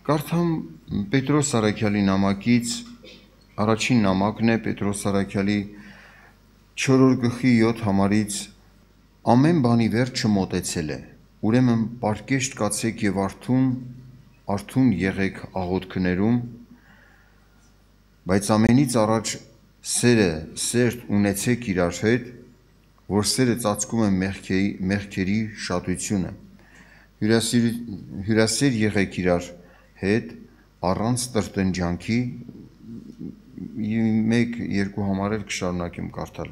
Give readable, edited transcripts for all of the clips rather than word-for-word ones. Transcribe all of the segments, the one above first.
Կարդամ Պետրոս Սարաքյալի նամակից, առաջին նամակն է Պետրոս Սարաքյալի 4-րդ գլխի 7 համարից ամեն բանի վերջը մոտեցել է, ուրեմն պարկեշտ կացեք եւ արթուն եղեք աղոթքներում, բայց ամենից առաջ սերտ ունեցեք իրար հետ, որ սերը ծածկում է մեղքերի շատությունը, հյուրասեր եղեք իրար հետ առանց տրտնջանքի, 1-2 համարել կշարունակեմ կարդալ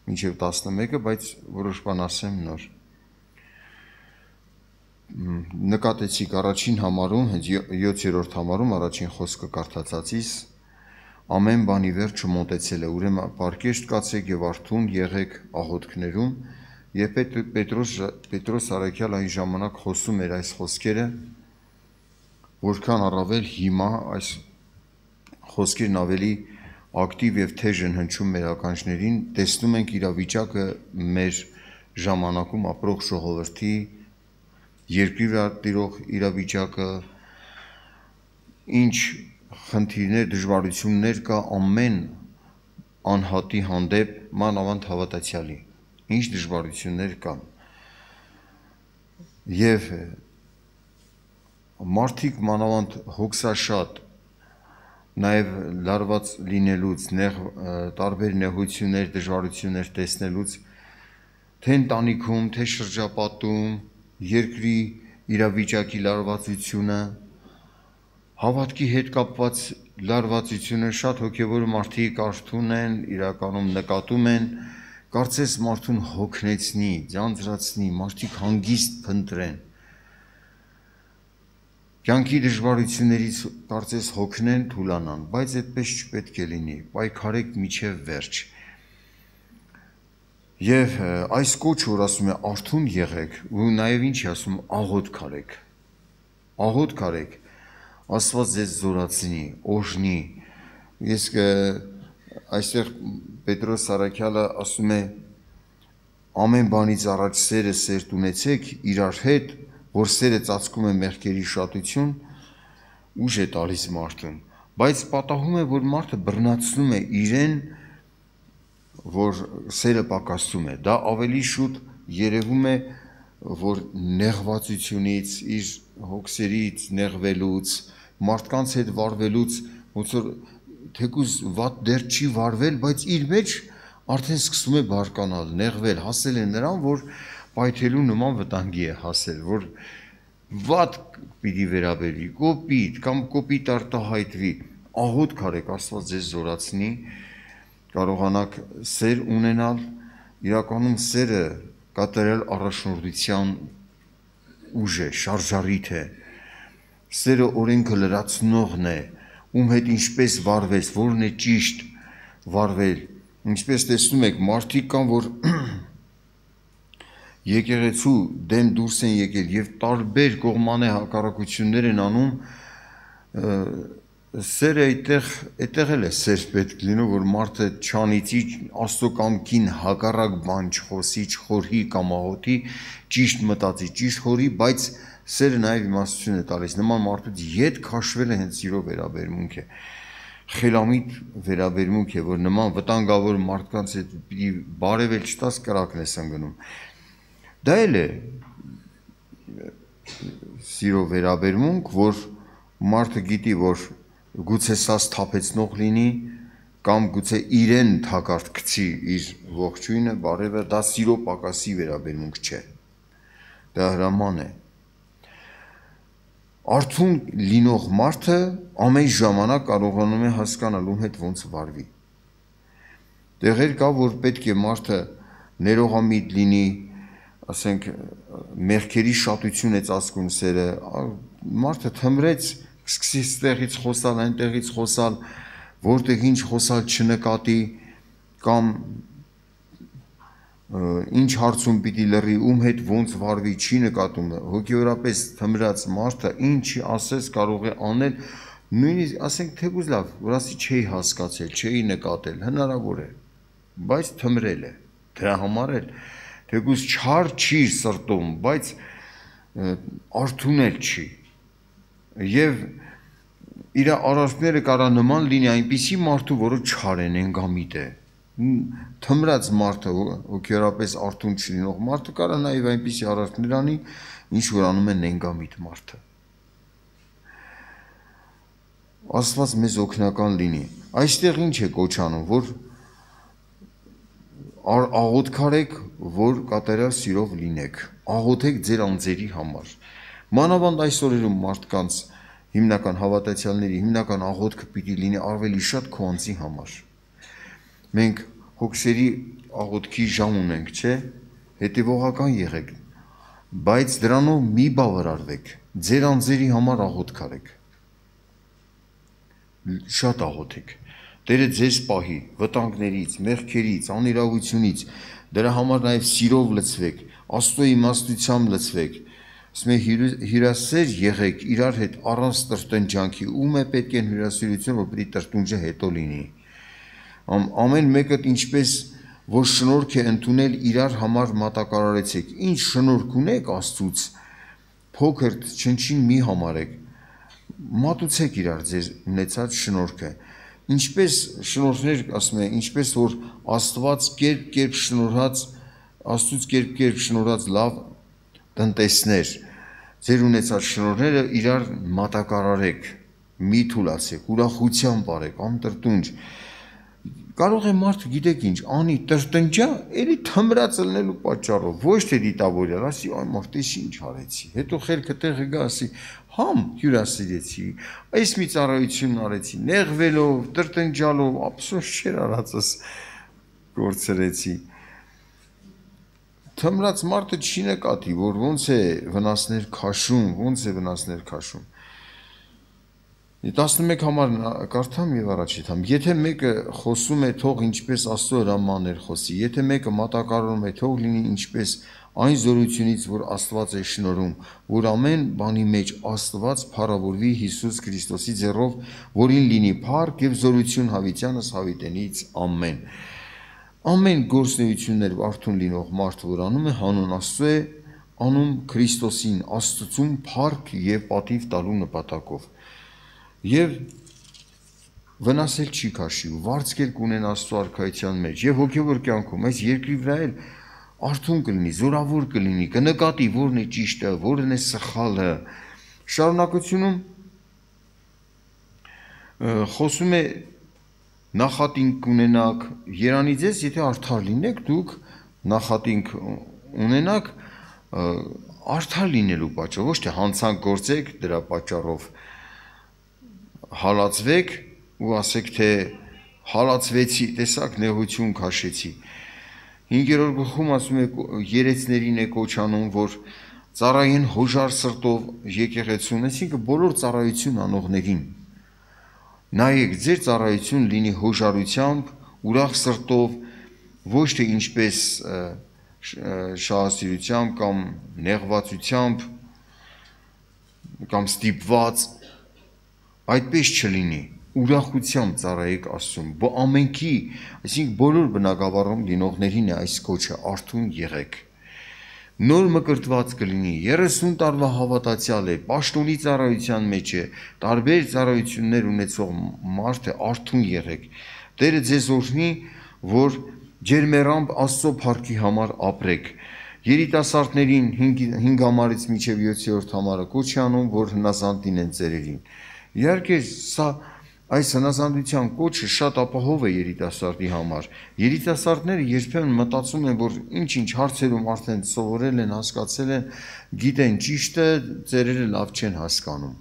մինչև 11-ը, բայց որոշ բան ասեմ նոր։ Նկատեցիք առաջին համարում, 7-րդ համարում առաջին խոսքը կարդացածից, ամեն բանի վերջը մոտեցել է, ուրեմն պարկեշտ կացեք եւ արթուն եղեք աղոթքներում, եւ Պետրոս Սարաքյալը այն ժամանակ խոսում էր այս խոսքերը, որքան առավել հիմա այս խոսքերն ավելի ակտիվ եւ թեժ են հնչում մեր ականջներին, տեսնում ենք իրավիճակը մեր ժամանակում ապրող ժողովրդի, երկրի վրա տիրող իրավիճակը, ինչ խնդիրներ, դժվարություններ կա ամեն անհատի հանդեպ, մանավանդ հավատացյալի, ինչ դժվարություններ կան։ Եվ մարդիկ մանավանդ հոգսաշատ, նաև լարված լինելուց, տարբեր նեղություններ, դժվարություններ տեսնելուց, թե ընտանիքում, թե շրջապատում, երկրի իրավիճակի լարվածությունը, հավատքի հետ կապված լարվածությունը, շատ հոգևոր մարդիկ արթուն են, իրականում նկատում են, կարծես մարդուն հոգնեցնի, ձանձրացնի, մարդիկ հանգիստ փնտրեն, կյանքի դժվարություններից կարծես հոգնեն, թուլանան, բայց այդպես չպետք է լինի, պայքարեք մինչև վերջ։ Եվ այս կոչը, որ ասում է արթուն եղեք, ու նաև ինչ է ասում, աղոթք արեք։ Աղոթք արեք, Աստված ձեզ զորացնի, օժնի։ Ես այստեղ Պետրոս Սարաքյալը ասում է ամեն բանից առաջ սերտ ունեցեք իրար հետ, որ սերը ծածկում է մեղքերի շատություն, ուժ է տալիս մարդուն, բայց պատահում է, որ մարդը բռնացնում է իրեն, որ սերը պակասում է, դա ավելի շուտ երևում է, որ նեղվածությունից, իր հոգսերից նեղվելուց, մարդկանց հետ վարվելուց, ոնց որ թեկուզ վատ դեռ չի վարվել, բայց իր մեջ արդեն սկսում է բարկանալ, նեղվել, հասել է նրան, որ պայթելու նման վտանգի է հասել, որ վատ պիտի վերաբերվի, կոպիտ կամ կոպիտ արտահայտվի, աղոթք արեք, Աստված ձեզ զորացնի, կարողանաք սեր ունենալ, իրականում սերը կատարյալ առաջնորդության ուժ է, շարժառիթ է, սերը օրենքը լրացնողն է, ում հետ ինչպես վարվես, որն է ճիշտ վարվել, ինչպես տեսնում եք, մարդիկ կան, որ եկեղեցու դեմ դուրս են եկել եւ տարբեր կողմանե հակառակություններ են անում, սերը այդտեղ էլ է սեր պետք լինում, որ մարդը չանիծի, Աստծո կամքին հակառակ բան չխոսի, չխորհի կամ աղոթի, ճիշտ մտածի, ճիշտ խորհի, բայց սերը նաեւ իմաստություն է տալիս, նման մարդուց ետ քաշվելը հենց սիրո վերաբերմունք է, խելամիտ վերաբերմունք է, որ նման վտանգավոր մարդկանց հետ պիտի բարևել չտաս կրակն ես ընկնում։ Դա էլ է սիրո վերաբերմունք, որ մարդը գիտի, որ գուցե սա սթափեցնող լինի, կամ գուցե իրեն թակարդ գցի իր ողջույնը, բարևը, դա սիրո պակասի վերաբերմունք չէ, դա հրաման է։ Արթուն լինող մարդը ամեն ժամանակ կարողանում է հասկանալ ում հետ ոնց վարվի։ Տեղեր կա, որ պետք է մարդը ներողամիտ լինի, ասենք մեղքերի շատություն է ծածկում սերը, մարդը թմրեց, սկսի ստեղից խոսալ, այնտեղից խոսալ, որտեղ ինչ խոսալ չնկատի, կամ ինչ հարցում պիտի լռի, ում հետ ոնց վարվի, չի նկատում, հոգևորապես թմրած մարդը ինչ ասես կարող է անել, նույնիսկ ասենք թեկուզ լավ, որ ասի չէի հասկացել, չէի նկատել, հնարավոր է, բայց թմրել է, դրա համար էլ թեկուզ չար չի սրտում, բայց արթունել չի, եւ իր արարքները կարա նման լինի այնպիսի մարդու, որը չար է, նենգամիտ է։ Թմրած մարդը, հոգեորապես արթուն չլինող մարդը կարա նաեւ այնպիսի արարքներ անի, ինչ որ անում է նենգամիտ մարդը։ Աստված մեզ օգնական լինի։ Այստեղ ինչ է կոչանում, որ աղոթք արեք, որ կատարյալ սիրով լինեք։ Աղոթեք ձեր անձերի համար։ Մանավանդ այս օրերում մարդկանց հիմնական հավատացյալների հիմնական աղոթքը պիտի լինի ավելի շատ քո անձի համար։ Մենք հոգսերի աղոթքի ժամ ունենք, չէ՞, հետևողական եղեք, բայց դրանով մի բավարարվեք, ձեր անձերի համար աղոթք արեք։ Շատ աղոթեք։ Տերը ձեզ պահի վտանգներից, մեղքերից, անիրավությունից, դրա համար նաև սիրով լցվեք, Աստծո իմաստությամբ լցվեք։ Ասում է հյուրասեր եղեք իրար հետ առանց տրտնջանքի, ում է պետք է հյուրասիրություն, որ պիտի տրտնջը հետո լինի։ Ամեն մեկը ինչպես որ շնորհք է ընդունել իրար համար մատակարարեցեք։ Ինչ շնորհք ունեք Աստծուց, փոքր չնչին մի համարեք։ Մատուցեք իրար ձեր ունեցած շնորհքը։ Ինչպես շնորհներ, ասում է, ինչպես որ Աստված կերպ շնորհած, Աստծուց կերպ շնորհած լավ տնտեսներ, ձեր ունեցած շնորհները իրար մատակարարեք, մի թուլացեք, ուրախությամբ արեք, անտրտունջ։ Կարող է մարդը գիտեք ինչ, անի տրտնջա, էլի թմրած ելնելու պատճառով, ոչ թե դիտավորյալ, ասի այ մարդես ինչ արեցի, հետո խելքը տեղը գա, ասի համ հյուրասիրեցի, այս մի ծառայություն արեցի, նեղվելով, տրտնջալով, ափսոս չէր արածս կորցրեցի։ Թմրած մարդը չի նկատի, որ ոնց է վնասներ քաշում։ 11 համար կարդամ եւ առաջի թամ։ Եթե մեկը խոսում է, թող ինչպես Աստծո հրամաններ խոսի։ Եթե մեկը մատակարարում է, թող լինի ինչպես այն զորությունից, որ Աստված է շնորհում, որ ամեն բանի մեջ Աստված փառավորվի Հիսուս Քրիստոսի ձեռով, որին լինի փառք եւ զորություն հավիտյանս հավիտենից ամեն։ Ամեն գործունեություններ արթուն լինող մարդը, որ անում է, հանուն Աստծո է, անում Քրիստոսին, Աստծուն փառք եւ պատիվ տալու նպատակով։ Եվ վնասել չի քաշի, վարձկել կունեն Աստծո արքայության մեջ եւ հոգեվոր կյանքում, այս երկրի վրա էլ արթուն կլինի, զորավոր կլինի, կնկատի որն է ճիշտը, որն է սխալը։ Շարունակությունում խոսում է նախատինք կունենաք, երանի ձեզ, եթե արդար լինեք, դուք նախատինք ունենաք արդար լինելու պատճառով, ոչ թե հանցանք գործեք դրա պատճառով հալածվեք ու ասեք թե հալածվեցի, տեսակ նեղություն քաշեցի։ 5-րդ գլխում ասում է երեցներին է կոչանում, որ ծառայեն հոժար սրտով եկեղեցուն, այսինքն բոլոր ծառայություն անողներին։ Նայեք, ձեր ծառայություն լինի հոժարությամբ, ուրախ սրտով, ոչ թե ինչպես շահասիրությամբ կամ նեղվածությամբ կամ ստիպված, այդպես չլինի, ուրախությամբ ծառայեք Աստծուն, ամենքի, այսինքն բոլոր բնակավարում լինողներին է այս կոչը, արթուն եղեք։ Նոր մկրտված կլինի, 30 տարվա հավատացյալ է, պաշտոնի ծառայության մեջ է, տարբեր ծառայություններ ունեցող մարդ է, արթուն եղեք։ Տերը ձեզ օրհնի, որ ջերմեռամբ Աստծո փառքի համար ապրեք։ Երիտասարդներին 5 համարից մինչև 7-րդ համարը կոչ է անում, որ հնազանդ լինեն ծերերին։ Իհարկե, սա այս հնազանդության կոչը շատ ապահով է երիտասարդի համար։ Երիտասարդները երբեմն մտածում են, որ ինչ-ինչ հարցերում արդեն սովորել են, հասկացել են, գիտեն ճիշտը, ծերերը լավ չեն հասկանում։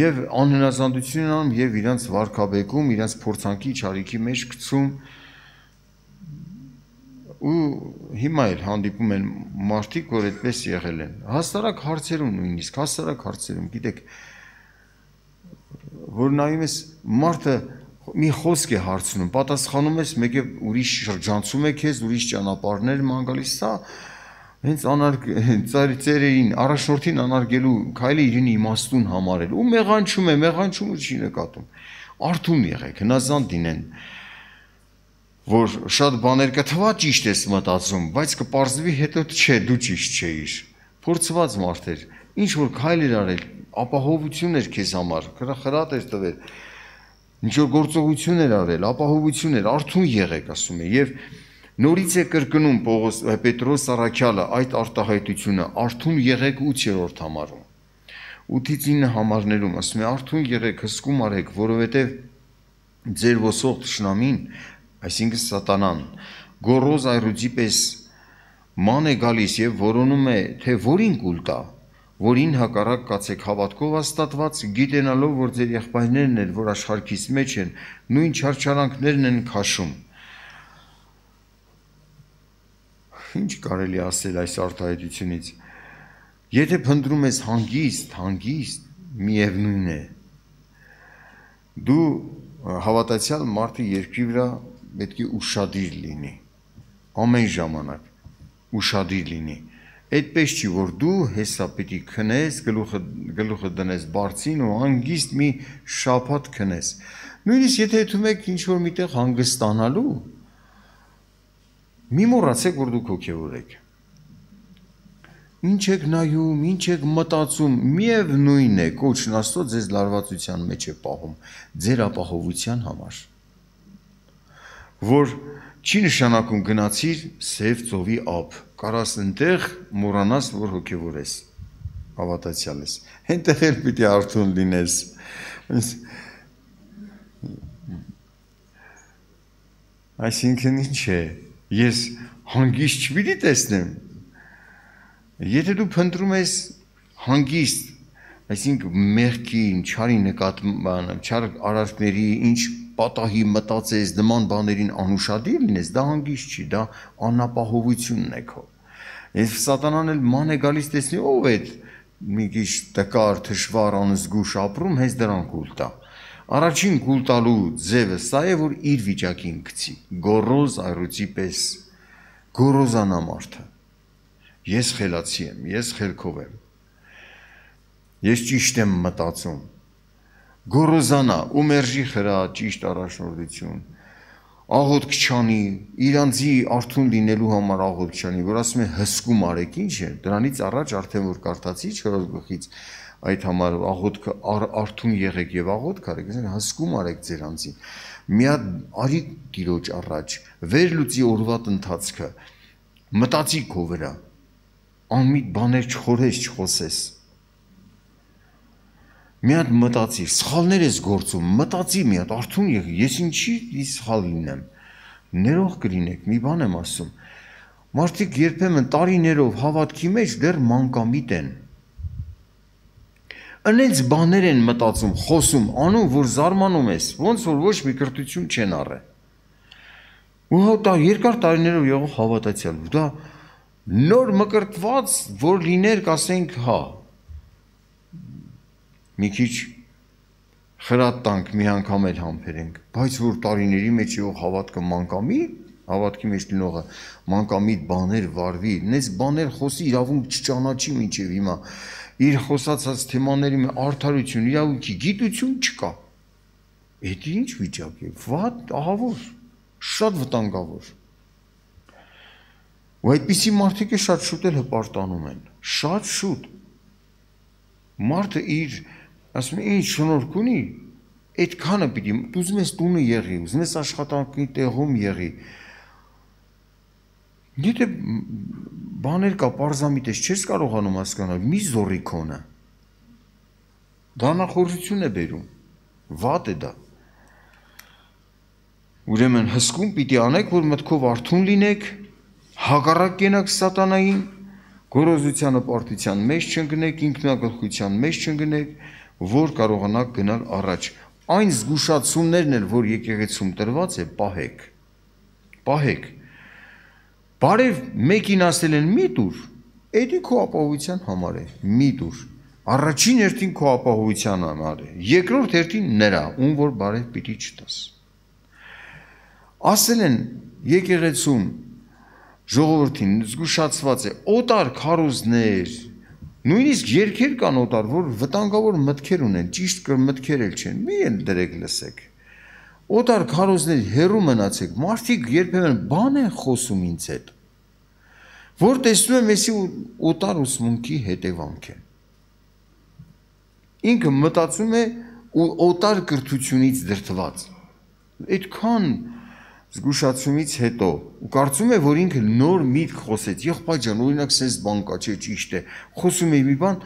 Եվ անհնազանդություն անում եւ իրանց վարքաբեկում, իրանց փորձանքի չարիքի մեջ գցում ու հիմա էլ հանդիպում են մարդիկ, որ այդպես եղել են։ Հաստարակ հարցերում նույնիսկ, գիտեք, որ նայում ես մարդը մի խոսք է հարցնում, պատասխանում ես, մեկ է ուրիշ շրջանցում է քեզ, ուրիշ ճանապարհներ ման գալիս, սա հենց ծերերին, առաջնորդին անարգելու քայլը իրեն իմաստուն համարել, ու մեղանչումը չի նկատում։ Արթուն եղեք, հնազանդ լինեն, որ շատ բաներ կթվա ճիշտ ես մտածում, բայց կպարզվի հետո չէ, դու ճիշտ չէիր։ Փորձված մարդ էր, ինչ որ քայլ էր արել, ապահովություն էր քեզ համար, խրատ էր տվել, ինչ որ գործողություն էր արել, ապահովություն էր, արթուն եղեք, ասում է, եւ նորից է կրկնում Պետրոս Առաքյալը այդ արտահայտությունը, արթուն եղեք 8-րդ համարում, 8-ից 9 համարներում, ասում է, արթուն եղեք, հսկում արեք, որովհետև ձեր ոսող թշնամին, այսինքն սատանան, գոռոզ այռուծի պես ման է գալիս եւ որոնում է, թե որին կուլ տա, որին հակառակ կացեք հավատքով հաստատված, գիտենալով, որ ձեր եղբայրներն են, որ աշխարհքից մեջ են, նույն չարչարանքներն են քաշում։ Ինչ կարելի ասել այս արտահայտությունից։ Եթե փնտրում ես հանգիստ, միևնույն է։ Դու հավատացյալ մարդի երկրի վրա պետք է ուշադիր լինի, ամեն ժամանակ ուշադիր լինի։ Այդպես չի, որ դու հեսա պիտի քնես, գլուխը դնես բարձին ու հանգիստ մի շաբաթ քնես։ Նույնիսկ եթե եթում եք ինչ-որ միտեղ հանգստանալու, մի մոռացեք, որ դուք հոգևոր եք։ Ինչ եք նայում, ինչ եք մտածում, միևնույն է, կոչն Աստծո ձեզ լարվածության մեջ է պահում, ձեր ապահովության համար։ Որ չի նշանակում գնացիր սև ծովի ափ, կարաս ընտեղ մոռանաս, որ հոգևոր ես, հավատացյալ ես, հենտեղ էլ պիտի արթուն լինես։ Այսինքն ինչ է, ես հանգիստ չպիտի տեսնեմ, եթե դու փնտրում ես հանգիստ, այսինքն մեղքին, չարի նկատմամբ, չար արարքների, ինչ պատահի մտածես, նման բաներին անուշադիր լինես, դա հանգիստ չի, դա անապահովությունն է քո։ Եվ սատանան էլ ման է գալիս տեսնի, ով է մի քիչ տկար, թշվառ, անզգուշ ապրում, հենց դրան կուլ տա։ Առաջին կուլ տալու ձևը սա է, որ իր վիճակին գցի, գոռոզ այռուծի պես, գոռոզանա մարդը։ Ես խելացի եմ, ես խելքով եմ, ես ճիշտ եմ մտածում, գոռոզանա ու մերժի խրա ճիշտ առաջնորդություն, աղոթք չանի, իրանցի արթուն լինելու համար աղոթք չանի, որ ասում է հսկում արեք, ինչ է, դրանից առաջ արդեն որ կարդացի 4-րդ գլխից այդ համար աղոթքը արթուն եղեք եւ աղոթք արեք, հսկում արեք ձեր անձին, մի հատ արի Տիրոջ առաջ, վեր լուծի օրվա ընթացքը, մտածի քո վրա, անմիտ բաներ չխորես, չխոսես։ Մի հատ մտածիր, սխալներ ես գործում, մտածի մի հատ, արթուն եղի, ես ինչի սխալ լինեմ, ներող կլինեք, մի բան եմ ասում, մարդիկ երբեմն տարիներով հավատքի մեջ դեռ մանկամիտ են, ընենց բաներ են մտածում, խոսում, անում, որ զարմանում ես, ոնց որ ոչ մի կրթություն չեն առել, ու դա երկար տարիներով եղող հավատացյալ, դա նոր մկրտված, որ լիներ, կասենք, հա, մի քիչ խրատ տանք, մի անգամ էլ համբերենք, բայց որ տարիների մեջ եղող հավատքը մանկամիտ, հավատքի մեջ լինողը մանկամիտ բաներ վարվի, նենց բաներ խոսի, իրավունք չճանաչի մինչև հիմա, իր խոսացած թեմաների արդարություն, իրավունքի գիտություն չկա, էդ ինչ վիճակ է, վատ, ահավոր, շատ վտանգավոր, ու այդպիսի մարդիկ է շատ շուտ էլ հպարտանում են, շատ շուտ, մարդը իր, ասում է, ինչ շնորհք ունի, այդքանը պիտի, ուզում ես տունը եղի, ուզում ես աշխատանքի տեղում եղի, եթե բաներ կա, պարզամիտ ես, չես կարողանում հասկանալ, մի զորի քոնը, դա նախորժություն է բերում, վատ է դա, ուրեմն հսկում պիտի անեք, որ մտքով արթուն լինեք, հակառակ կենաք սատանային, գոռոզության հպարտության մեջ չընկնեք, ինքնագլխության մեջ չընկնեք, որ կարողանաք գնալ առաջ։ Այն զգուշացումներն էլ, որ եկեղեցում տրված է, պահեք։ Բարև մեկին ասել են մի տուր, էդի քո ապահովության համար է, մի տուր։ Առաջին հերթին քո ապահովության համար է, երկրորդ հերթին նրա, ում որ բարև պիտի չտաս։ Ասել են եկեղեցում ժողովրդին զգուշացված է, օտար քարոզներ, նույնիսկ երգեր կան օտար, որ վտանգավոր մտքեր ունեն, ճիշտ մտքեր էլ չեն, մի են դրեք լսեք, օտար քարոզներ հեռու մնացեք, մարդիկ երբեմն բան են խոսում ինձ հետ, որ տեսնում եմ եսի օտար ուսմունքի հետևանք է, ինքը մտածում է ու օտար կրթությունից դրդված։ Այդքան զգուշացումից հետո ու կարծում է, որ ինքը նոր միտք խոսեց, եղբայր ջան, օրինակ sense բան կա, չէ, ճիշտ է։ Խոսում է մի բան,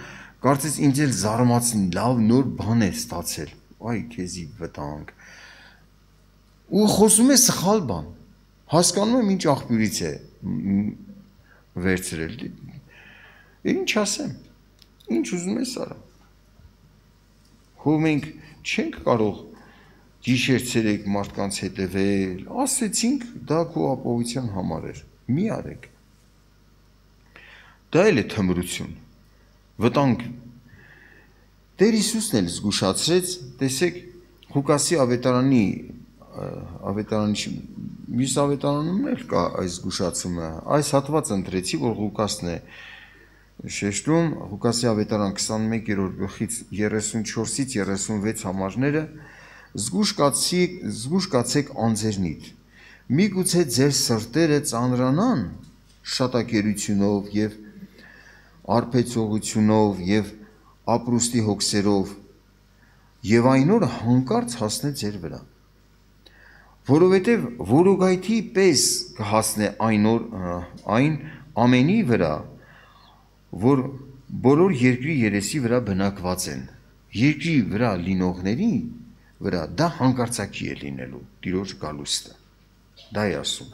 կարծես ինձ էլ զարմացին, լավ նոր բան է ստացել։ Այ քեզի վտանգ։ Ու խոսում է սխալ բան։ Հասկանում եմ ինչ աղբյուրից է վերցրել։ Ինչ ասեմ։ Ինչ ուզում ես արա։ Հո մենք չենք կարող գիշեր-ցերեկ մարդկանց հետևել, ասեցինք, դա քո ապահովության համար էր, մի արեք։ Դա էլ է թմրություն, վտանգ։ Տեր Հիսուսն էլ զգուշացրեց, տեսեք, Ղուկասի ավետարանի մյուս ավետարանում էլ կա այս զգուշացումը, այս հատվածը ընտրեցի, որ Ղուկասն է շեշտում, Ղուկասի ավետարան 21-րդ գլխից 34-ից 36 համարները, զգուշ կացեք անձերնիդ, միգուցե ձեր սրտերը ծանրանան շատակերությունով և արբեցողությունով և ապրուստի հոգսերով և այն օրը հանկարծ հասնե ձեր վրա, որովհետև որոգայթի պես կհասնե այն ամենի վրա, որ բոլոր երկրի երեսի վրա բնակված են, երկրի վրա լինողների վրա դա հանկարծակի է լինելու, Տիրոջ գալուստը, դա է ասում,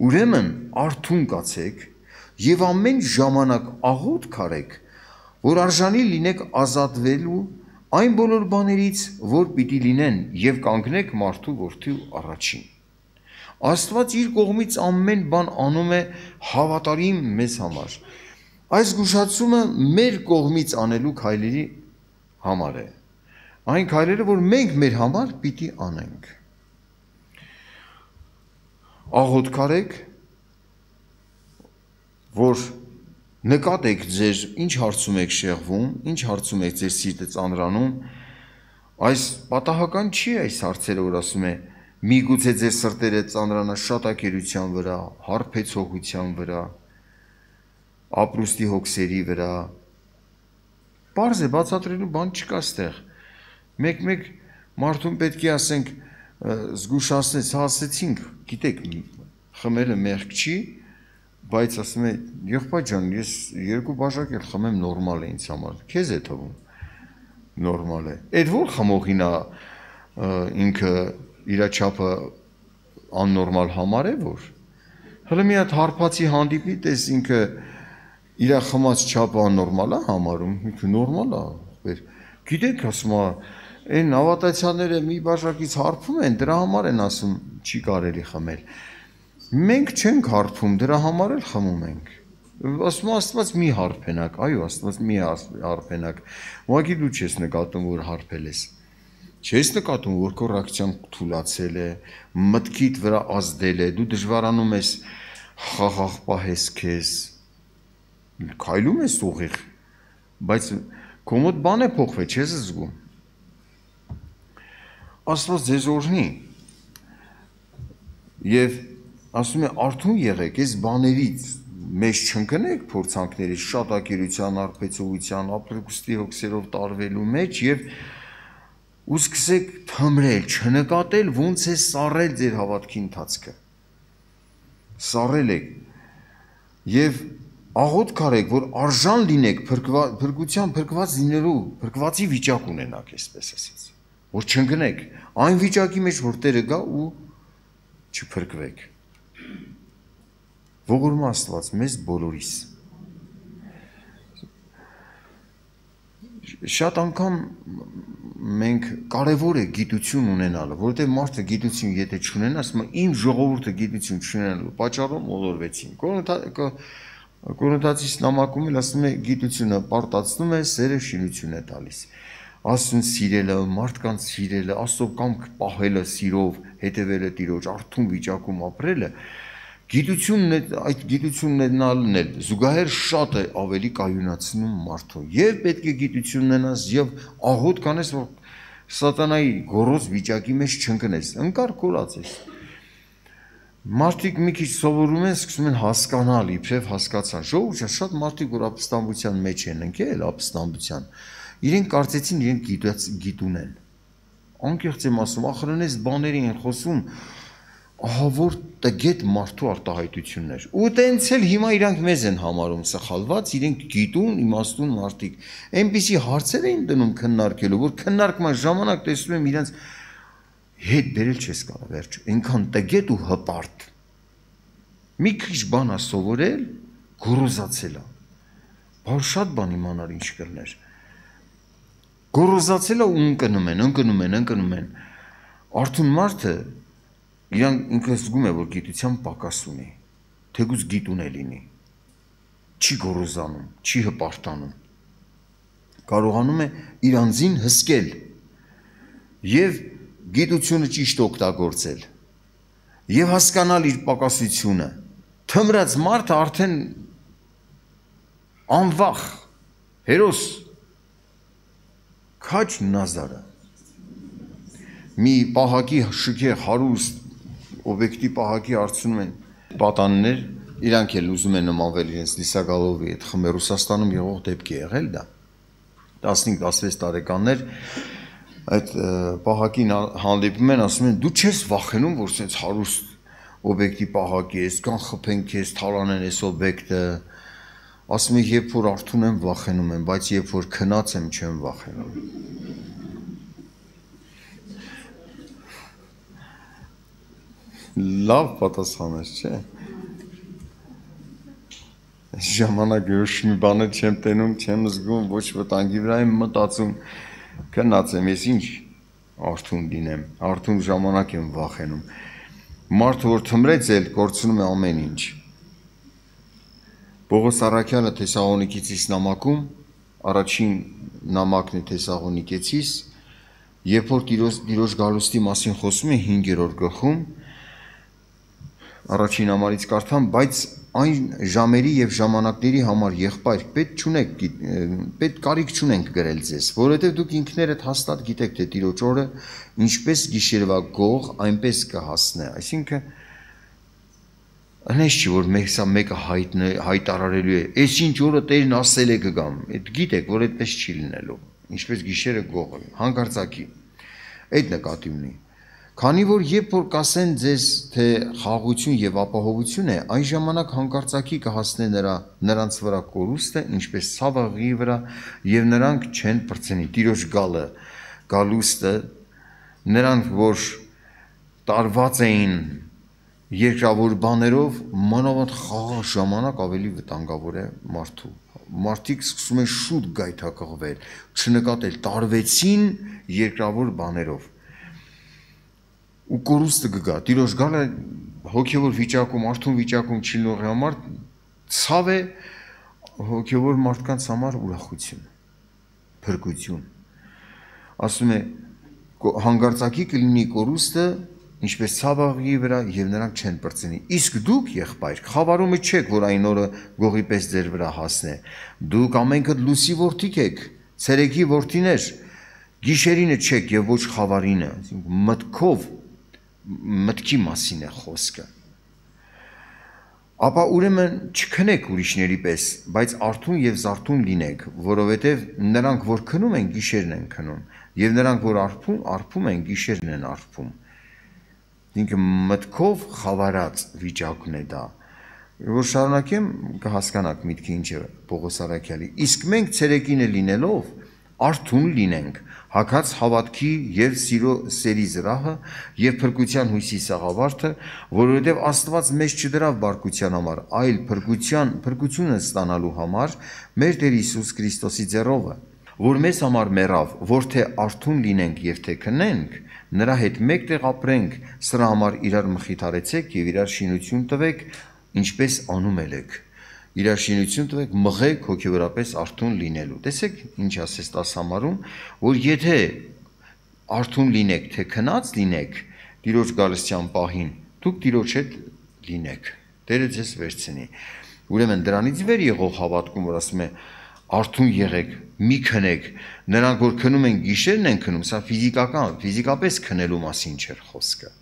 ուրեմն արթուն կացեք և ամեն ժամանակ աղոթք արեք, որ արժանի լինեք ազատվելու այն բոլոր բաներից, որ պիտի լինեն և կանգնեք մարդու որդու առաջին։ Աստված իր կողմից ամեն բան անում է հավատարիմ մեզ համար։ Այս զգուշացումը մեր կողմից անելու քայլերի համար է։ Այն քայլերը, որ մենք մեր համար պիտի անենք։ Աղոթք արեք, որ նկատեք ձեր ինչ հարցում եք շեղվում, ինչ հարցում եք ձեր սիրտը ծանրանում, այս պատահական չի այս հարցերը, որ ասում է, միգուցե ձեր սրտերը ծանրանա շատակերության վրա, հարբեցողության վրա, ապրուստի հոգսերի վրա, պարզ է, բացատրելու բան չկա ստեղ, մեկ մարդուն պետք է ասենք, զգուշացնեց, ասեցինք, գիտեք, խմելը մեղք չի, բայց ասում է, եղբայր ջան, ես 2 բաժակ էլ խմեմ նորմալ է ինձ համար, քեզ է թվում, նորմալ է, այդ որ խմողին է ինքը իր չափը աննորմալ համար է, որ, հլը մի հատ հարբացի հանդիպի, տես ինքը իր խմած չափը աննորմալ է համարում, ինքը նորմալ է, գիտեք, ասում է, այն ավատացյանները մի բաժակից հարբում են, դրա համար են ասում, չի կարելի խմել, մենք չենք հարբում, դրա համար էլ խմում ենք, ասում Աստված մի հարբենակ, այո, Աստված մի հարբենակ, ուղղակի դու չես նկատում, որ հարբել ես, չես նկատում, որ քո ռեակցիան թուլացել է, մտքիդ վրա ազդել է, դու դժվարանում ես խաղաղ պահես քեզ, քայլում ես ուղիղ, բայց քո մոտ բան է փոխվել, չես զգում, Աստված ձեզ օրհնի, և ասում է արթուն եղեք, այս բաներից մեզ չընկնեք փորձանքների շատակերության, արբեցողության, ապրուստի հոգսերով տարվելու մեջ և սկսեք թմրել, չնկատել ոնց է սառել ձեր հավատքի ընթացքը, սառել եք և աղոթք արեք, որ արժան լինեք փրկության փրկված լինելու, փրկվածի վիճակ ունենաք, այսպես ասած, որ չընկնեք այն վիճակի մեջ, որ Տերը գա ու չփրկվեք։ Ողորմ Աստված մեզ բոլորիս։ Շատ անգամ մենք կարևոր է գիտություն ունենալը, որովհետև մարդը գիտություն եթե չունենա, ասում է իմ ժողովուրդը գիտություն չունենալու պատճառով մոլորվեցին։ Կորինթացիս նամակում էլ ասում է գիտությունը պարտացնում է, սերը շինություն է տալիս։ Աստծուն սիրելը, մարդկանց սիրելը, Աստծո կամք պահելը սիրով, հետևելը Տիրոջ, արթուն վիճակում ապրելը, այդ գիտությունն էլ զուգահեռ շատ է ավելի կայունացնում մարդուն և պետք է գիտություն ունենաս և աղոթք անես, որ սատանայի գոռոզ վիճակի մեջ չընկնես, ընկար կորած ես։ Մարդիկ մի քիչ սովորում են, սկսում են հասկանալ, իբրև հասկացան, ժողովուրդ շատ մարդիկ, որ ապստամբության մեջ են ընկել, ապստամբության, իրենք կարծեցին իրենք գիտուն են։ Անկեղծ եմ ասում, ախրենես բաների են խոսում, ահա որ տգետ մարդու արտահայտություններ։ Ու տենց էլ հիմա իրանք մեզ են համարում սխալված, իրենք գիտուն, իմաստուն մարդիկ։ Այնպիսի հարցեր էին տնում քննարկելու, որ քննարկման ժամանակ տեսնում եմ իրենց հետ բերել չես կարող վերջ, այնքան տգետ ու հպարտ։ Մի քիչ բան է սովորել, գոռոզացել է։ Բար շատ բան իմանալ ինչ կլներ։ Գոռոզացել է ու ընկնում են։ Արթուն մարդը իրան ինքը զգում է, որ գիտության պակաս ունի, թեկուզ գիտուն է լինի, չի գոռոզանում, չի հպարտանում, կարողանում է իր անձին հսկել և գիտությունը ճիշտ օգտագործել և հասկանալ իր պակասությունը, թմրած մարդը արդեն անվախ, հերոս, քաչ նազարը, մի պահակի շքեղ հարուստ, օբյեկտի պահակի արցնում են պատաններ, իրանք էլ ուզում են նմանվել իրենց Լիսագալովի հետ խմբը, Ռուսաստանում եղող դեպք է եղել դա, 15-16 տարեկաններ, այդ պահակին հանդիպում են, ասում են, դու չես վախենում, որ սենց հարուստ օբյեկտի պահակի ես, կան խփեն քեզ, թալանեն ես օբյեկտը, ասում են, երբ որ արթուն եմ, վախենում եմ, բայց երբ որ քնած եմ, չեմ վախենում։ Լավ պատասխան ես, չէ։ Ժամանակ ոչ մի բանը չեմ տենում, չեմ զգում, ոչ վտանգի վրա եմ մտածում, քնած եմ, ես ինչ արթուն լինեմ, արթուն ժամանակ եմ վախենում։ Մարդը որ թմրեց էլ կորցնում է ամեն ինչ։ Պողոս Առաքյալը Թեսաղոնիկեցիս նամակում, առաջին նամակն է Թեսաղոնիկեցիս, երբ որ Տիրոջ գալուստի մասին խոսում է 5-րդ գլխում, առաջին համարից կարդամ, բայց այն ժամերի և ժամանակների համար եղբայր պետք կարիք չունենք գրել ձեզ, որովհետև դուք ինքներդ հաստատ գիտեք, թե Տիրոջ օրը ինչպես գիշերվա գող, այնպես կհասնե, այսինքն հնես չի, որ սա մեկը հայտարարելու է, այս ինչ օրը Տերն ասել է կգամ, գիտեք, որ այդպես չի լինելու, ինչպես գիշերը գողը, հանկարծակի, այդ նկատի ունի, քանի որ երբ որ կասեն ձեզ, թե խաղաղություն և ապահովություն է, այն ժամանակ հանկարծակի կհասնե նրանց վրա կորուստը, ինչպես ցավաղի վրա, և նրանք չեն պրծնի, Տիրոջ գալուստը, նրանք, որ տարված էին երկրավոր բաներով, մանավանդ խաղաղ ժամանակ ավելի վտանգավոր է մարդու։ Մարդիկ սկսում են շուտ գայթակղվել, չնկատել, տարվեցին երկրավոր բաներով։ Ու կորուստը կգա, Տիրոջ գալը հոգևոր վիճակում, արթուն վիճակում չլինողի համար ցավ է, հոգևոր մարդկանց համար ուրախություն, փրկություն։ Ասում է, հանկարծակի կլինի կորուստը, ինչպես ցավաղի վրա և նրանք չեն պրծնի։ Իսկ դուք, եղբայր, խավարումը չեք, որ այն օրը գողի պես ձեր վրա հասնե։ Դուք ամենքդ լույսի որդիք եք, ցերեկի որդիներ, գիշերինը չեք և ոչ խավարինը, մտքով, մտքի մասին է խոսքը։ Ապա ուրեմն չքնեք ուրիշների պես, բայց արթուն և զարթուն լինեք, որովհետև նրանք, որ քնում են, գիշերն են քնում, և նրանք, որ արփում են, գիշերն են արփում։ Ինքը մտքով խավարած վիճակն է դա։ Որ շարունակեմ, կհասկանաք միտքը ինչ է Պողոս Առաքյալի։ Իսկ մենք ցերեկինը լինելով արթուն լինենք, հագած հավատքի և սերի զրահը և փրկության հույսի սաղավարտը, որովհետև Աստված մեզ չդրավ բարկության համար, այլ փրկությունը ստանալու համար մեր Տեր Հիսուս Քրիստոսի ձեռովը, որ մեզ համար մեռավ, որ թե արթուն լինենք և թե քնենք, նրա հետ մեկտեղ ապրենք, սրա համար իրար մխիթարեցեք և իրար շինություն տվեք, ինչպես անում եք։ Իրար շինություն տվեք, մղեք հոգևորապես արթուն լինելու։ Տեսեք, ինչ ասես 10 համարում, որ եթե արթուն լինեք, թե քնած լինեք, Տիրոջ գալստյան պահին, դուք Տիրոջ հետ լինեք, Տերը ձեզ վերցնի։ Ուրեմն դրանից վեր եղող հավատքում, որ ասում է արթուն եղեք, մի քնեք, նրանք որ քնում են գիշերն են քնում, սա ֆիզիկապես քնելու մասին չէր խոսքը։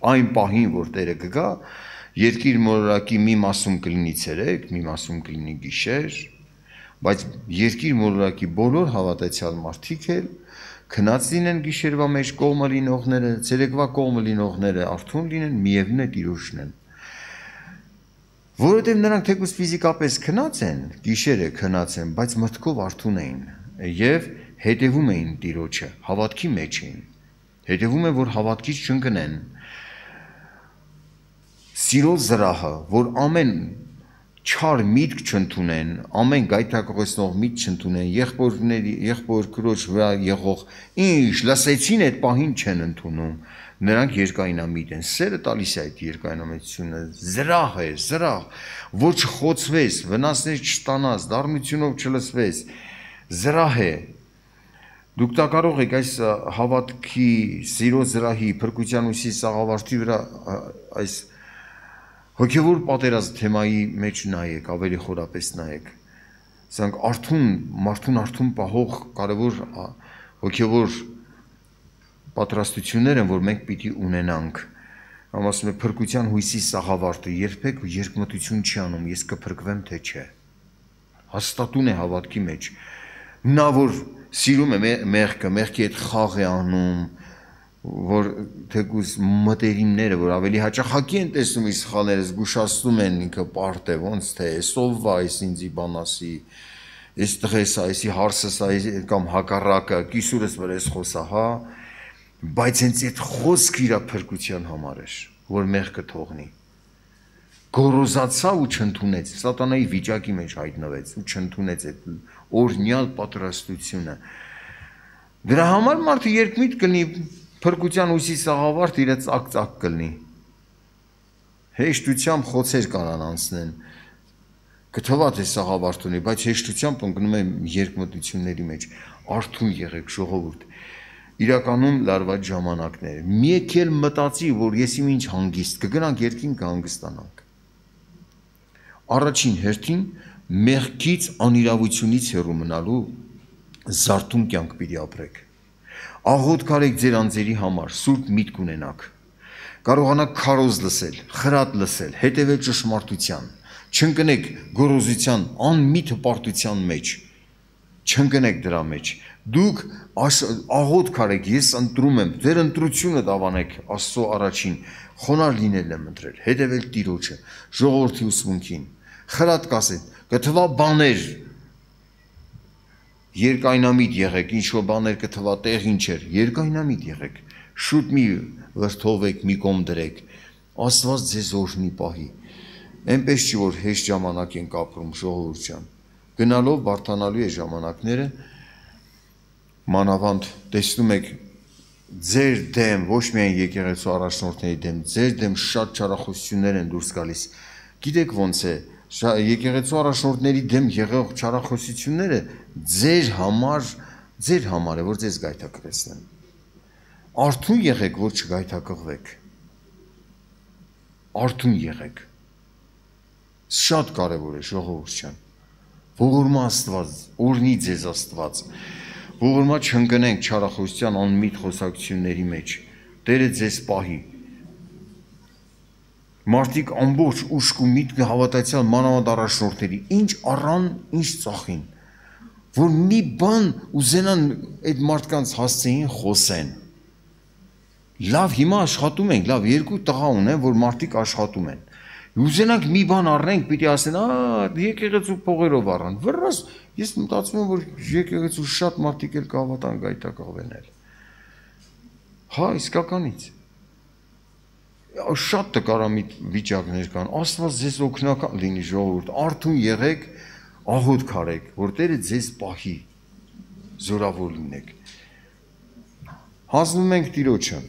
Այն պահին, որ Տերը կգա, երկիր մոլորակի մի մասում կլինի ցերեկ, մի մասում կլինի գիշեր, բայց երկիր մոլորակի բոլոր հավատացյալ մարդիկ էլ քնած լինեն գիշերվա մեջ կողմը լինողները, ցերեկվա կողմը լինողները արթուն լինեն, միևնույն է Տիրոջն են։ Որովհետև նրանք թեկուզ ֆիզիկապես քնած են, գիշերը քնած են, բայց մտքով արթուն էին եւ հետևում էին Տիրոջը, հավատքի մեջ էին։ Հետևում են, որ հավատքից չընկնեն։ Սիրո զրահը, որ ամեն չար միտք չընդունեն, ամեն գայթակղեցնող միտք չընդունեն, եղբոր քրոջ վրա եղող ինչ լսեցին այդ պահին չեն ընդունում, նրանք երկայնամիտ են։ Սերը տալիս է այդ երկայնամիտությունը, զրահ է, զրահ, որ չխոցվես, վնասներ չստանաս, դառնությունով չլսվես, զրահ է։ Դուք դա կարող եք այս հավատքի, սիրո զրահի, փրկության ուսի սաղավարտի վրա այս հոգևոր պատերազմ թեմայի մեջ նայեք, ավելի խորապես նայեք։ Սրանք մարդուն արթուն պահող կարևոր հոգևոր պատրաստություններ են, որ մենք պիտի ունենանք։ Կամ ասում է փրկության հույսի սաղավարտը երբեք երկմտություն չի անում, ես կփրկվեմ թե չէ։ Հաստատուն է հավատքի մեջ։ Նա որ սիրում է մեղքը, մեղքի հետ խաղ է անում, որ թեկուզ մտերիմները, որ ավելի հաճախակի են տեսնում իր սխալները, զգուշացնում են ինքը պարտ է, ոնց թե սովվա այս ինձի բան ասի, այս տղես այսի հարսս կամ հակառակը, կիսուրս վրա ես խոսա, հա, բայց հենց այդ խոսքը իր փրկության համար էր, որ մեղքը թողնի։ Գոռոզացավ ու չընդունեց, սատանայի վիճակի մեջ հայտնվեց ու չընդունեց այդ օրհնյալ պատրաստությունը։ Դրա համար մարդը երկմիտ կլինի փրկության ուսի սաղավարտ իր ծակ կլինի։ Հեշտությամբ խոցեր կարան անցնեն։ Կթվա թե սաղավարտ ունի, բայց հեշտությամբ ընկնում է երկմտությունների մեջ։ Արթուն եղեք ժողովուրդ։ Իրականում լարված ժամանակներ։ Մի եկել մտածի, որ ես իմ ինչ հանգիստ կգնանք երկին կհանգստանանք։ Առաջին հերթին մեղքից անիրավությունից հեռու մնալու զարթուն կյանք պիտի ապրեք։ Աղոթք արեք ձեր անձերի համար, սուրբ միտք ունենաք։ Կարողանաք քարոզ լսել, խրատ լսել, հետևել ճշմարտության, չընկնեք գոռոզության, անմիտ հպարտության մեջ, չընկնեք դրա մեջ։ Դուք աղոթք արեք, ես ընտրում եմ, ձեր ընտրությունը դավանեք Աստծո առաջին, խոնար լինել եմ ընտրել, հետևել Տիրոջը, ժողովրդի ուսմունքին, խրատ կասեք, կթվա բաներ, երկայնամիտ եղեք, ինչ-որ բաներ կթվա տեղ ինչ էր, երկայնամիտ եղեք, շուտ մի վրդովեք, մի կողմ դրեք, Աստված ձեզ օրհնի պահի, այնպես չի, որ հեշտ ժամանակ ենք ապրում ժողովուրդ ջան, գնալով բարդանալու է ժամանակները, մանավանդ տեսնում եք ձեր դեմ, ոչ միայն եկեղեցու առաջնորդների դեմ, ձեր դեմ շատ չարախոսություններ են դուրս գալիս, գիտեք ոնց է, եկեղեցու առաջնորդների դեմ եղող չարախոսությունները ձեր համար է, որ ձեզ գայթակղեցնեն։ Արթուն եղեք, որ չգայթակղվեք։ Արթուն եղեք։ Շատ կարևոր է ժողովուրդ ջան։ Ողորմա Աստված, օրհնի ձեզ Աստված։ Ողորմա չընկնենք չարախոսության անմիտ խոսակցությունների մեջ։ Տերը ձեզ պահի։ Մարդիկ ամբողջ ուշք ու միտք հավատացյալ մանավանդ առաջնորդների, ինչ առան, ինչ ծախին, որ մի բան ուզենան այդ մարդկանց հասցեին խոսեն։ Լավ, հիմա աշխատում ենք, լավ, երկու տղա ունեն, որ մարդիկ աշխատում են։ Ուզենանք մի բան առնենք, պիտի ասեն, եկեղեցու փողերով առան։ Վրաս, ես մտածում եմ, որ եկեղեցու շատ մարդիկ էլ կհավատան գայթակղվեն էլ։ Հա, իսկականից։ Շատ տկարամիտ վիճակներ կան, Աստված ձեզ օգնական լինի ժողովուրդ, արթուն եղեք, աղոթք արեք, որ Տերը ձեզ պահի, զորավոր լինեք։ Հանձնում ենք Տիրոջը։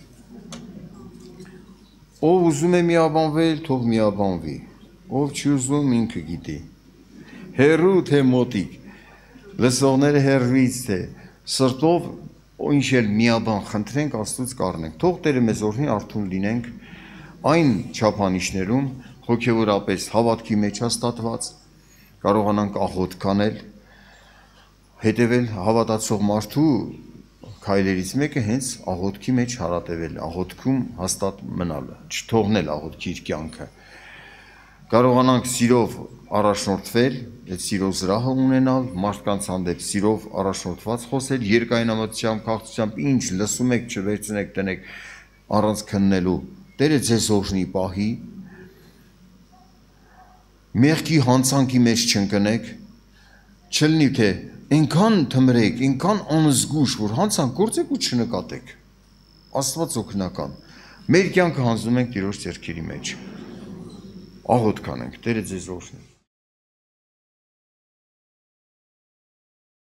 Ով ուզում է միաբանվել, թող միաբանվի, ով չի ուզում ինքը գիտի։ Հեռու թե մոտիկ, լսողները հեռվից թե սրտով ինչ էլ միաբան խնդրենք, Աստծուց կառնենք։ Թող Տերը մեզ օրհնի, արթուն լինենք այն չափանիշներում, հոգևորապես հավատքի մեջ հաստատված, կարողանանք աղոթք անել, հետևել հավատացող մարդու քայլերից մեկը հենց աղոթքի մեջ հարատևել, աղոթքում հաստատ մնալը, չթողնել աղոթքի իր կյանքը։ կարողանանք սիրով առաջնորդվել, այդ սիրո զրահը ունենալ, մարդկանց հանդեպ սիրով առաջնորդված խոսել, երկայնամտությամբ, քաղցրությամբ, ինչ լսում եք, չվերցնեք, տնեք առանց քննելու, Տերը ձեզ օրհնի պահի, մեղքի հանցանքի մեջ չընկնեք, չլինի թե այնքան թմրեք, այնքան անզգուշ, որ հանցանք գործեք ու չնկատեք, Աստված օգնական, մեր կյանքը հանձնում ենք Տիրոջ ձեռքերի մեջ, աղոթք անենք, Տերը ձեզ օրհնի։